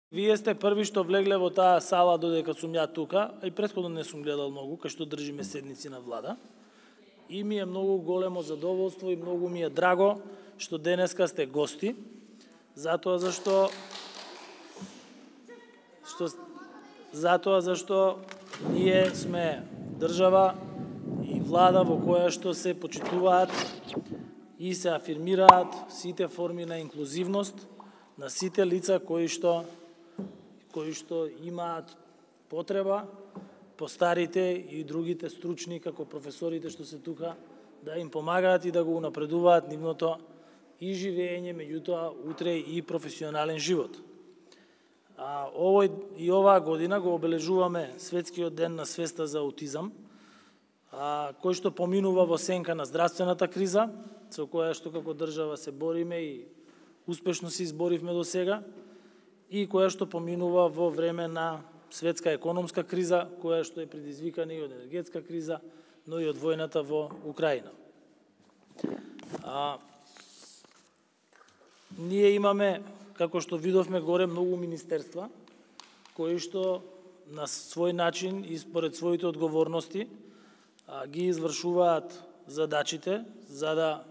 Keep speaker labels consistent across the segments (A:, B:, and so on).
A: Вие сте први што влегле во таа сала додека сум ја тука, а и претходно не сум гледал многу, кај што држиме седници на влада. И ми е многу големо задоволство и многу ми е драго што денеска сте гости, затоа зашто ние сме држава и влада во која што се почитуваат и се афирмираат сите форми на инклузивност на сите лица кои што имаат потреба, постарите и другите стручни, како професорите што се тука, да им помагаат и да го унапредуваат нивното и живење, меѓутоа утре и професионален живот. Оваа година го обележуваме Светскиот ден на свеста за аутизам, кој што поминува во сенка на здравствената криза, со која што како држава се бориме и успешно се изборивме до сега, и која што поминува во време на светска економска криза, која што е предизвикана и од енергетска криза, но и од војната во Украина. Ние имаме, како што видовме горе, многу министерства, кои што на свој начин и според своите одговорности ги извршуваат задачите, за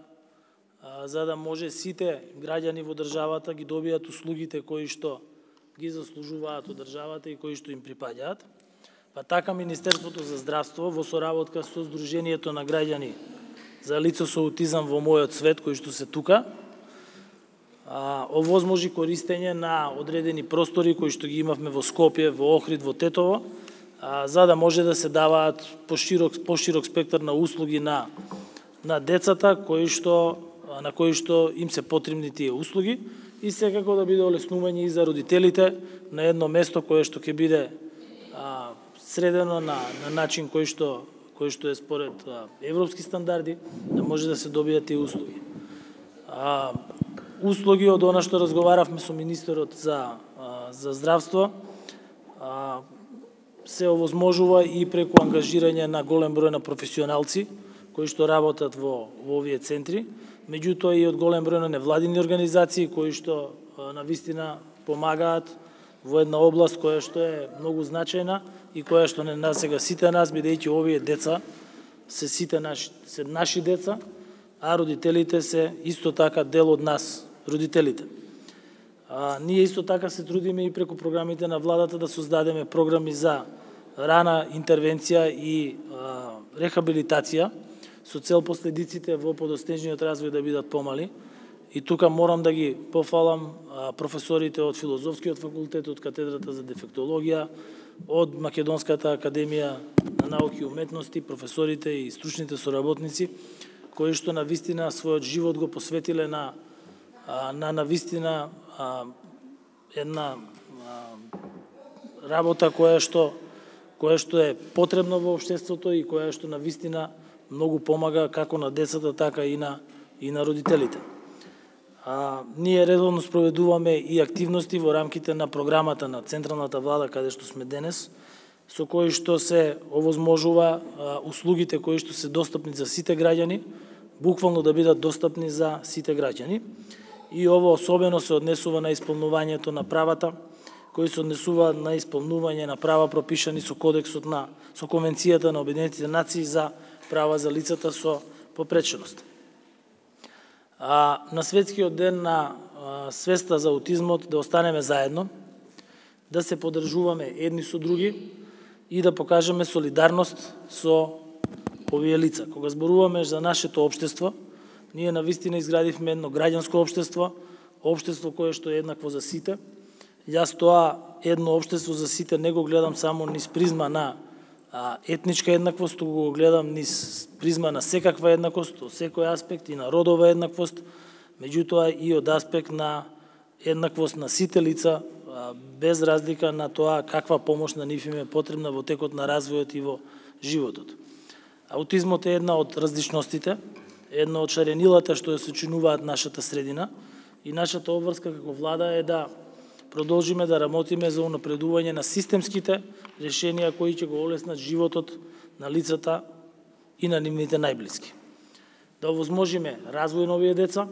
A: да може сите граѓани во државата ги добијат услугите кои што ги заслужуваат од државата и кои што им припаѓаат. Па така Министерството за здравство во соработка со Сдруженијето на граѓани за лица со аутизам во мојот свет, кои што се тука, овозможи користење на одредени простори кои што ги имавме во Скопје, во Охрид, во Тетово, за да може да се даваат поширок спектар на услуги на децата на кои што им се потребни тие услуги и секако да биде олеснување и за родителите на едно место кое што ќе биде средено на начин кој што е според европски стандарди, да може да се добијат тие услуги. Услуги од она што разговаравме со министерот за здравство се овозможува и преку ангажирање на голем број на професионалци кои што работат во овие центри, меѓутоа и од голем број на невладини организации кои што навистина помагаат во една област која што е многу значајна и која што не насега сите нас, бидејќи овие деца се наши деца, а родителите се исто така дел од нас, родителите. Ние исто така се трудиме и преку програмите на владата да создадеме програми за рана интервенција и рехабилитација, со цел последиците во подоснежниот развој да бидат помали. И тука морам да ги пофалам професорите од Филозофскиот факултет, од катедрата за дефектологија, од Македонската академија на науки и уметности, професорите и стручните соработници, кои што навистина својот живот го посветиле на навистина една работа која што е потребна во општеството и која што навистина многу помага како на децата, така и на родителите. Ние редовно спроведуваме и активности во рамките на програмата на Централната влада, каде што сме денес, со кои што се овозможува услугите кои што се достапни за сите граѓани, буквално да бидат достапни за сите граѓани. И ово особено се однесува на исполнувањето на правата, кои се однесуваат на исполнување на права пропишани со кодексот со Конвенцијата на Обединетите нации за права за лицата со попреченост. На Светскиот ден на свеста за аутизмот да останеме заедно, да се поддржуваме едни со други и да покажеме солидарност со овие лица. Кога зборуваме за нашето општество, ние навистина изградивме едно граѓанско општество кое што е еднакво за сите. Јас тоа едно општество за сите не го гледам само низ призма на етничка еднаквост, туку го гледам низ призма на секаква еднаквост, од секој аспект и на родова еднаквост, меѓутоа и од аспект на еднаквост на сите лица, без разлика на тоа каква помош на нив им е потребна во текот на развојот и во животот. Аутизмот е една од различностите, една од шаренилата што ја сочинуваат нашата средина и нашата обврска како влада е да продолжиме да работиме за унапредување на системските решенија кои ќе го олеснат животот на лицата и на нивните најблиски. Да овозможиме развој на овие деца,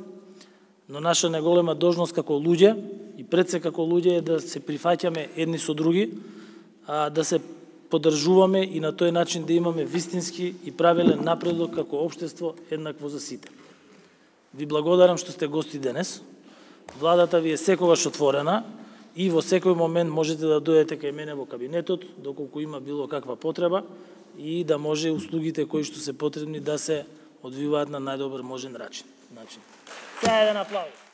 A: но наша најголема должност како луѓе и пред се како луѓе е да се прифаќаме едни со други, да се поддржуваме и на тој начин да имаме вистински и правилен напредок како општество еднакво за сите. Ви благодарам што сте гости денес. Владата ви е секогаш отворена и во секој момент можете да дојдете кај мене во кабинетот, доколку има било каква потреба и да може услугите кои што се потребни да се одвиваат на најдобар можен начин. Сега еден аплауз.